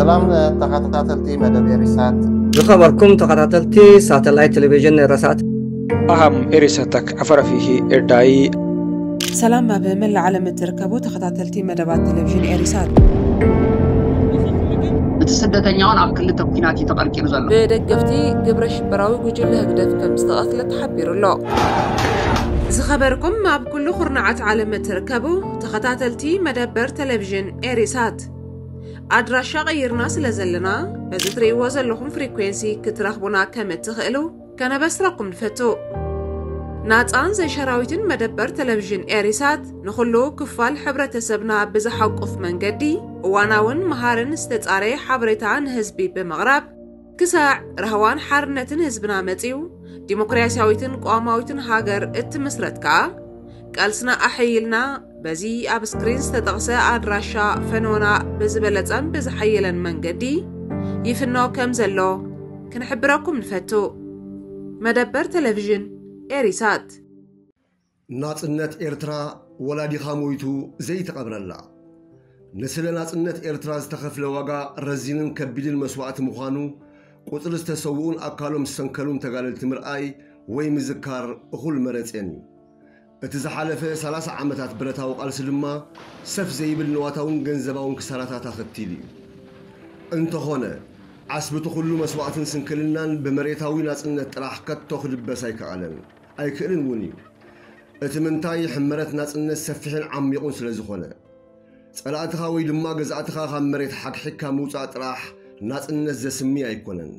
ሰላም ተኸታተልቲ መደብ ኤሪሳት። ዝኸበርኩም ተኸታተልቲ ሳተላይት ቴሌቪዥን ኤረሳት። ኣሃም ኤሪሳታክ ኣፈራፊሂ ኤርዳይ። ሰላም ኣብ መላእ ዓለም እትርከቡ ተኸታተልቲ መደባት ቴሌቪዥን ኤሪሳት። እቲ ስደተኛውን ኣብ ክልተ ኲናት እዩ ተቐርቂሩ ዘሎ። ብደገፍቲ ግብረ ሽበራዊ ጉጅለ ህግደፍ ከም ዝተቐትለ ተሓቢሩ ኣሎ። ዝኸበርኩም ኣብ ኩሉ ኩርናዓት ዓለም እትርከቡ ተኸታተልቲ መደበር ቴሌቪዥን ኤሪሳት፣ ኣድራሻ ቀይርና ስለ ዘለና በዚ ትርእይዎ ዘለኹም ፍሪኩዌንሲ ክትረኽቡና ከም እትኽእሉ ከነበስረኩም ንፈቱ። ናጻን ዘይሸራዊትን መደበር ቴሌቪዥን ኤሪሳት ንኹሉ ክፋል ሕብረተሰብና ብዝሓቁፍ መንገዲ እዋናውን መሃርን ዝተጻረየ ሓበሬታ ንህዝቢ ብምቕራብ ክሳዕ ራህዋን ሓርነትን ህዝብና መጺኡ ዲሞክራሲያዊትን ቅዋማዊትን ሃገር እትምስረት ከኣ ቃልስና ኣሐይልና በዚ ኣብ ስክሪን ዝተጠቕሰ ኣድራሻ ፈኖና ብዝበለጸን ብዝሓየለን መንገዲ ይፍኖ ከም ዘሎ ክንሕብረኩም ንፈቱ። መደበር ቴሌቪዥን ኤሪሳት። ናጽነት ኤርትራ ወላዲኻ ሞይቱ ዘይተቐብረላ። ንስለ ናጽነት ኤርትራ ዝተኸፍለ ዋጋ ረዚንን ከቢድን መስዋእቲ ምዃኑ ቁጽሪ ዝተሰውኡን ኣካሎም ዝሰንከሉን ተጋደልቲ ምርኣይ ወይ ምዝካር እኹል መረጽን እዩ። እቲ ዝሓለፈ ሰላሳ ዓመታት ብረታዊ ቃልሲ ድማ ሰፍ ዘይብል ንዋታውን ገንዘባውን ክሳራታት ኣኸቲሉ እዩ። እንተኾነ ዓስቢ እቲ ኩሉ መስዋእትን ስንክልናን ብመሬታዊ ናጽነት ጥራሕ ከቶ ክድበስ ኣይከኣለን ኣይክእልን እውን እዩ። እቲ ምንታይ ሕመረት ናጽነት ሰፊሕን ዓሚቑን ስለ ዝኾነ ጸላእትኻ ወይ ድማ ገዛእትኻ ካብ መሬት ሓግሒግካ ምውጻእ ጥራሕ ናጽነት ዘስሚ ኣይኮነን።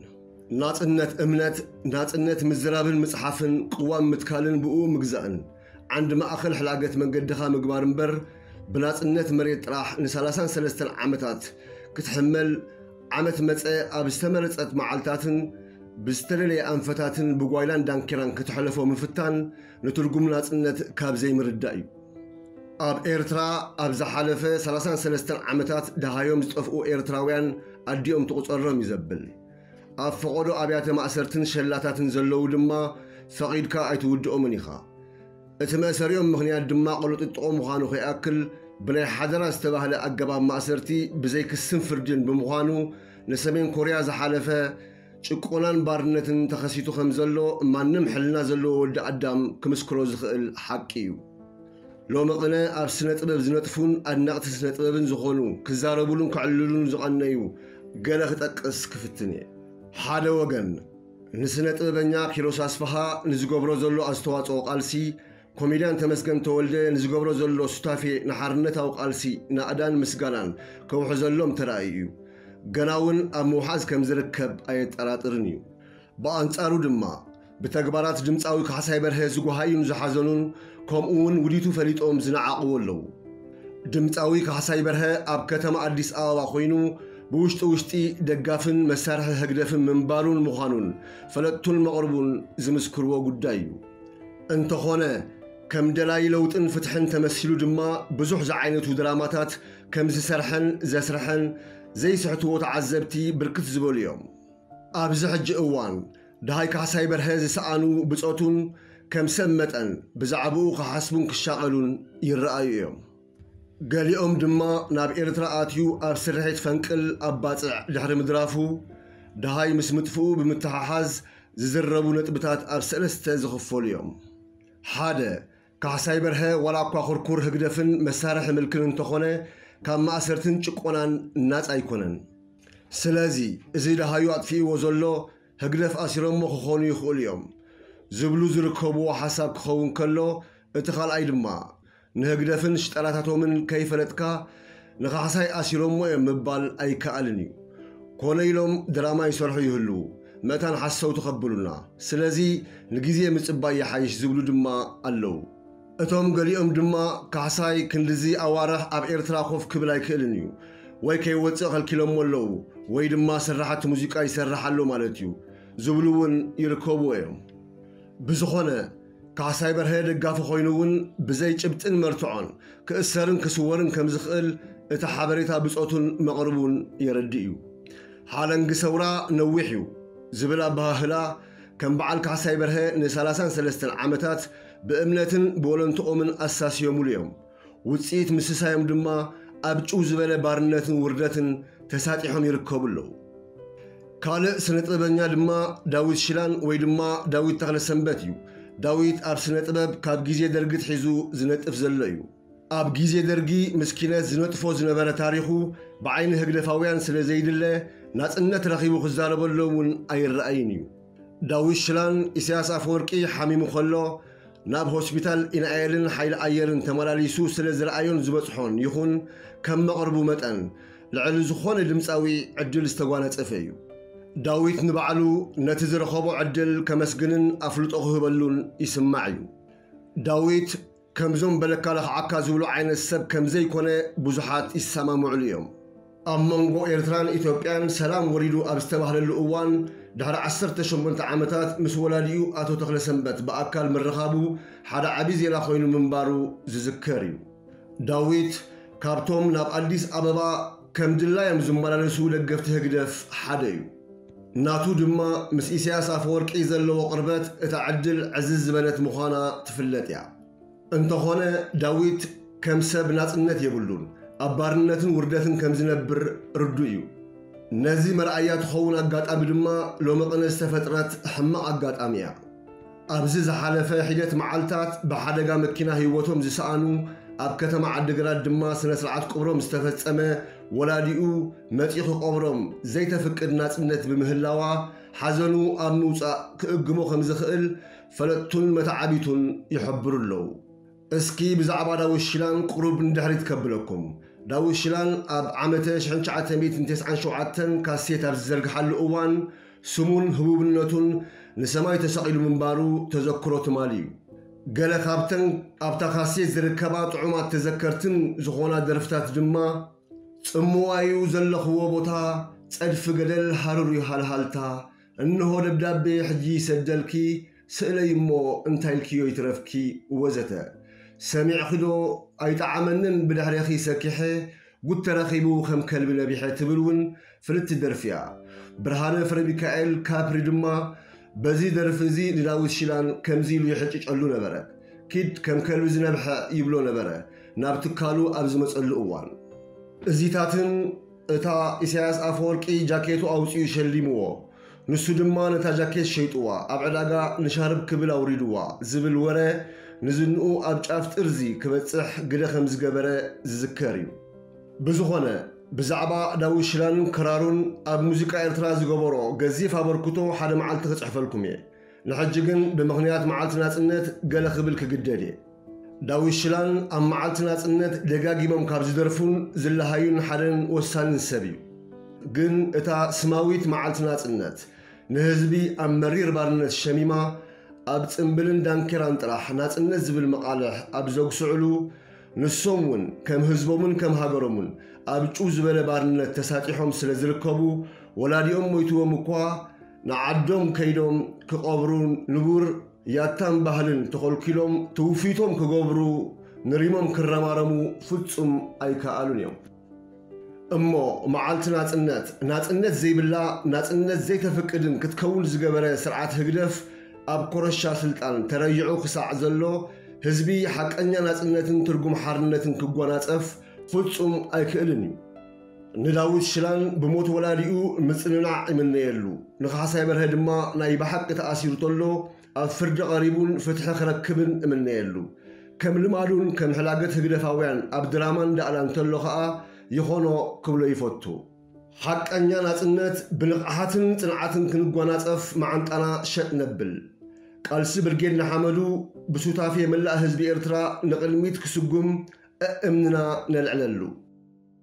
ናጽነት እምነት፣ ናጽነት ምዝራብን ምጽሓፍን፣ ቅዋም ምትካልን ብኡ ምግዛእን ዓንዲ ማእኸል ሕላገት መንገድኻ ምግባር እምበር ብናጽነት መሬት ጥራሕ ንሰላሳን ሰለስተን ዓመታት ክትሕመል ዓመት መጸ ኣብ ዝተመረጸት መዓልታትን ብዝተደለየ ኣንፈታትን ብጓይላን ዳንኪራን ክትሕለፎ ምፍታን ንትርጉም ናጽነት ካብ ዘይምርዳእ እዩ። ኣብ ኤርትራ ኣብ ዝሓለፈ ሰላሳን ሰለስተን ዓመታት ደሃዮም ዝጠፍኡ ኤርትራውያን ኣዲኦም ትቑጸሮም እዩ ዘብል። ኣብ ፈቐዶ ኣብያተ ማእሰርትን ሸላታትን ዘለዉ ድማ ፈቒድካ ኣይትውድኦምን ኢኻ። እቲ መእሰሪኦም ምኽንያት ድማ ቅልጥጥቖ ምዃኑ ከይኣክል ብናይ ሓደራ ዝተባህለ ኣገባብ ማእሰርቲ ብዘይ ክስን ፍርድን ብምዃኑ ንሰሜን ኮርያ ዝሓለፈ ጭቆናን ባርነትን ተኸሲቱ ከም ዘሎ ማንም ሕልና ዘለዎ ወዲ ኣዳም ክምስክሮ ዝኽእል ሓቂ እዩ። ሎሚ ቅነ ኣብ ስነ ጥበብ ዝነጥፉን ኣድነቕቲ ስነ ጥበብን ዝኾኑ ክዛረቡሉን ክዕልሉን ዝቐነዩ ገለ ክጠቅስ ክፍትን እየ። ሓደ ወገን ንስነ ጥበበኛ ኪሮስ ኣስፍሃ ንዝገብሮ ዘሎ ኣስተዋጽኦ ቃልሲ፣ ኮሜድያን ተመስገን ተወልደ ንዝገብሮ ዘሎ ሱታፌ ንሓርነታዊ ቃልሲ ናእዳን ምስጋናን ከውሕዘሎም ተራእዩ እዩ። ገና እውን ኣብ ምውሓዝ ከም ዝርከብ ኣየጠራጥርን እዩ። ብኣንጻሩ ድማ ብተግባራት ድምፃዊ ካሕሳይ በርሀ ዝጎሃዩን ዝሓዘኑን ከምኡ እውን ውዲቱ ፈሊጦም ዝነዓቕዎ ኣለዉ። ድምፃዊ ካሕሳይ በርሀ ኣብ ከተማ ኣዲስ ኣበባ ኮይኑ ብውሽጢ ውሽጢ ደጋፍን መሳርሒ ህግደፍን ምንባሩን ምዃኑን ፈለጥቱን መቕርቡን ዝምስክርዎ ጉዳይ እዩ። እንተኾነ ከም ደላይ ለውጥን ፍትሕን ተመሲሉ ድማ ብዙሕ ዝዓይነቱ ድራማታት ከም ዝሰርሐን ዘስርሐን ዘይስሕትዎ ተዓዘብቲ ብርክት ዝበሉ እዮም። ኣብዚ ሕጂ እዋን ደሃይ ካሕሳይ በርሀ ዝሰኣኑ ብጾቱን ከም ሰብ መጠን ብዛዕባኡ ክሓስቡን ክሻቐሉን ይረኣዩ እዮም። ገሊኦም ድማ ናብ ኤርትራ ኣትዩ ኣብ ስርሒት ፈንቅል ኣብ ባጽዕ ድሕሪ ምድራፉ ደሃይ ምስ ምጥፍኡ ብምትሓሓዝ ዝዝረቡ ነጥብታት ኣብ ሰለስተ ዝኽፈሉ እዮም። ሓደ፣ ካሕሳይ በርሀ ዋላ እኳ ኩርኩር ህግደፍን መሳርሒ ምልክን እንተኾነ ካብ ማእሰርትን ጭቆናን ናጻ ኣይኮነን። ስለዚ እዚ ደሃዩ ኣጥፊእዎ ዘሎ ህግደፍ ኣሲሮሞ ክኾኑ ይኽእሉ እዮም ዝብሉ ዝርከብዎ ሓሳብ ክኸውን ከሎ፣ እቲ ካልኣይ ድማ ንህግደፍን ሽጠላታቶምን ከይፈለጥካ ንኻሕሳይ ኣሲሮሞ እዮም ምባል ኣይከኣልን እዩ። ኮነ ኢሎም ድራማ ይሰርሑ ይህልዉ፣ መእታን ሓሰውቲ ከብሉና። ስለዚ ንግዜ ምጽባይ ይሓይሽ ዝብሉ ድማ ኣለዉ። እቶም ገሊኦም ድማ ካሕሳይ ክንድዚ ኣዋርሕ ኣብ ኤርትራ ኮፍ ክብል ኣይክእልን እዩ፣ ወይ ከይወጽእ ከልኪሎሞ ኣለዉ፣ ወይ ድማ ስራሓት ሙዚቃ ይሰርሕ ኣሎ ማለት እዩ ዝብሉ እውን ይርከብዎ እዮም። ብዝኾነ ካሕሳይ በርሀ ደጋፊ ኮይኑ እውን ብዘይ ጭብጥን መርትዖን ክእሰርን ክስወርን ከም ዝኽእል እቲ ሓበሬታ ብጾቱን መቕርቡን የረድእ እዩ። ሓለንጊ ሰውራ ነዊሕ እዩ ዝብል ኣበሃህላ ከም በዓል ካሕሳይ በርሀ ንሰላሳን ሰለስተን ዓመታት ብእምነትን ብወለንትኦምን ኣሳስዮምሉ እዮም። ውጽኢት ምስሳዮም ድማ ኣብ ጭው ዝበለ ባርነትን ውርደትን ተሳጢሖም ይርከቡ ኣለዉ። ካልእ ስነ ጥበበኛ ድማ ዳዊት ሽላን ወይ ድማ ዳዊት ተኽለሰንበት እዩ። ዳዊት ኣብ ስነ ጥበብ ካብ ግዜ ደርጊ ኣትሒዙ ዝነጥፍ ዘሎ እዩ። ኣብ ግዜ ደርጊ ምስ ኪነት ዝነጥፎ ዝነበረ ታሪኹ ብዓይኒ ህግደፋውያን ስለ ዘይድለ፣ ናጽነት ረኺቡ ክዛረበሎም እውን ኣይረኣይን እዩ። ዳዊት ሽላን ኢሳያስ ኣፈወርቂ ሓሚሙ ከሎ ናብ ሆስፒታል ኢናኤልን ሓይሊ ኣየርን ተመላሊሱ ስለ ዝረኣዮን ዝበጽሖን ይኹን ከም መቕርቡ መጠን ልዕሊ ዝኾነ ድምጻዊ ዕድል ዝተጓነጸፈ እዩ። ዳዊት ንባዕሉ ነቲ ዝረኸቦ ዕድል ከመስግንን ኣፍልጦ ክህበሉን ይስማዕ እዩ። ዳዊት ከምዞም በለካ ለኽዓካ ዝብሉ ዓይነት ሰብ ከም ዘይኮነ ብዙሓት ይሰማምዕሉ እዮም። ኣብ መንጎ ኤርትራን ኢትዮጵያን ሰላም ወሪዱ ኣብ ዝተባህለሉ እዋን፣ ድሕሪ ዓሰርተ ሸሞንተ ዓመታት ምስ ወላዲኡ ኣቶ ተኽለሰንበት ብኣካል ምርኻቡ ሓደ ዓቢ ዜና ኮይኑ ምንባሩ ዝዝከር እዩ። ዳዊት ካብቶም ናብ ኣዲስ ኣበባ ከም ድላዮም ዝመላለሱ ደገፍቲ ህግደፍ ሓደ እዩ። ናቱ ድማ ምስ ኢሳያስ ኣፈወርቂ ዘለዎ ቅርበት እታ ዕድል ዕዝዝ ዝበለት ምዃና ትፍለጥ እያ። እንተኾነ ዳዊት ከም ሰብ ናጽነት የብሉን፣ ኣብ ባርነትን ውርደትን ከም ዝነብር ርዱእ እዩ። ነዚ መርኣያ ትኸውን ኣጋጣሚ ድማ ሎሚ ቅነ ዝተፈጥረት ሕማቕ ኣጋጣሚ እያ። ኣብዚ ዝሓለፈ ሒደት መዓልታት ብሓደጋ መኪና ህይወቶም ዝሰኣኑ፣ ኣብ ከተማ ዓዲግራት ድማ ስነ ስርዓት ቅብሮም ዝተፈጸመ፣ ወላዲኡ መጺኡ ክቐብሮም ዘይተፍቅድ ናጽነት ብምህላዋ፣ ሓዘኑ ኣብ ምውጻእ ክእግሞ ከም ዝኽእል ፈለጥቱን መተዓቢቱን ይሕብሩ ኣለዉ። እስኪ ብዛዕባ ዳዊት ሽላን ቁሩብ ንድሕሪት ከብለኩም። ዳዊት ሽላን ኣብ ዓመተ ሽሕን ትሽዓተ ሚእትን ተስዓን ሸውዓተን ካሴት ኣብ ዝዘርግሓሉ እዋን፣ ስሙን ህቡብነቱን ንሰማይ ተሰቒሉ ምንባሩ ተዘክሮ ትማሊ እዩ። ገለ ካብተን ኣብታ ካሴት ዝርከባ ጥዑማት ተዘከርትን ዝኾና ደርፍታት ድማ፣ ጽምዋዩ ዘለኽዎ ቦታ፣ ጸድፊ ገደል ሃሩር እዩ ሃልሃልታ፣ እንሆ ደብዳቤ ሕጂ ይሰደልኪ፣ ስእለይ እሞ እንታይ ኢልክዮ ይትረፍኪ፣ ወዘተ። ሰሚዕኺዶ ኣይጠዓመንን ብድሕሬኺ ሰኪሐ፣ ጉድ ተረኺቡ ከም ከልቢ ነቢሐ ትብል እውን ፍልጥቲ ደርፊ እያ። ብርሃነ ፍረሚካኤል ካፕሪ ድማ በዚ ደርፊ እዚ ንዳዊት ሽላን ከምዚ ኢሉ ይሕጭጨሉ ነበረ። ኪድ ከም ከልቢ ዝነብሐ ይብሎ ነበረ፣ ናብ ትካሉ ኣብ ዝመጸሉ እዋን። እዚታትን እታ ኢሳያስ ኣፈወርቂ ጃኬቱ ኣውጺኡ ሸሊምዎ፣ ንሱ ድማ ነታ ጃኬት ሸይጥዋ፣ ኣብ ዕዳጋ ንሻርብ ክብል ኣውሪድዋ ዝብል ወረ ንዝንኡ ኣብ ጫፍ ጥርዚ ክበጽሕ ግደ ከም ዝገበረ ዝዝከር እዩ። ብዝኾነ፣ ብዛዕባ ዳዊት ሽላንን ክራሩን ኣብ ሙዚቃ ኤርትራ ዝገበሮ ገዚፍ ኣበርክቶ ሓደ መዓልቲ ክጽሕፈልኩም እየ። ንሕጂ ግን ብምኽንያት መዓልቲ ናጽነት ገለ ክብል ክግደድ እየ። ዳዊት ሽላን ኣብ መዓልቲ ናጽነት ደጋጊሞም ካብ ዝደርፉን ዝለሃዩን ሓደን ወሳንን ሰብ እዩ። ግን እታ ስማዊት መዓልቲ ናጽነት ንህዝቢ ኣብ መሪር ባርነት ሸሚማ፣ ኣብ ጽምብልን ዳንኬራን ጥራሕ ናጽነት ዝብል መቓልሕ ኣብ ዘጉስዕሉ፣ ንሶም እውን ከም ህዝቦምን ከም ሃገሮምን ኣብ ጭው ዝበለ ባርነት ተሳጢሖም ስለ ዝርከቡ፣ ወላዲኦም ሞይትዎም እኳ ንዓዶም ከይዶም ክቐብሩ ንቡር ያታን ባህልን ተኾልኪሎም ትውፊቶም ክገብሩ ንሪሞም ክረማረሙ ፍጹም ኣይከኣሉን እዮም። እሞ መዓልቲ ናጽነት፣ ናጽነት ዘይብላ፣ ናጽነት ዘይተፍቅድን ክትከውን ዝገበረ ስርዓት ህግደፍ ኣብ ኮረሻ ስልጣን ተረይዑ ክሳዕ ዘሎ፣ ህዝቢ ሓቀኛ ናጽነትን ትርጉም ሓርነትን ክጓናጸፍ ፍጹም ኣይክእልን እዩ። ንዳዊት ሽላን ብሞት ወላዲኡ ምጽንናዕ ይምነየሉ። ንካሕሳይ በርሀ ድማ ናይ ብሓቂ ተኣሲሩ ተሎ ኣብ ፍርዲ ቀሪቡን ፍትሒ ክረክብን እምነየሉ። ከም ልማዱን ከም ሕላገት ህግደፋውያን ኣብ ድራማ እንዳኣላ እንተሎ ኸኣ ይኾኖ ክብሎ ይፈቱ። ሓቀኛ ናጽነት ብንቕሓትን ጽንዓትን ክንጓናጸፍ መዓንጣና ሸጥ ነብል። ቃልሲ ብርጌድ ንሓመዱ ብሱታፌ መላእ ህዝቢ ኤርትራ ንቕድሚት ክስጉም እእምንና ነልዕለሉ።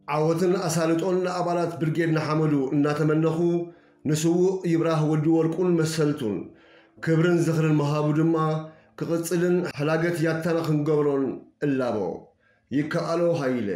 ዓወትን ኣሳልጦን ንኣባላት ብርጌድ ንሓመዱ እናተመነኹ፣ ንስዉእ ይብራህ ወዲ ወርቁን መሰልቱን ክብርን ዝኽርን ምሃቡ ድማ ክቕጽልን ሕላገት ያታና ክንገብሮን እላቦ። ይከኣሎ ሃይለ።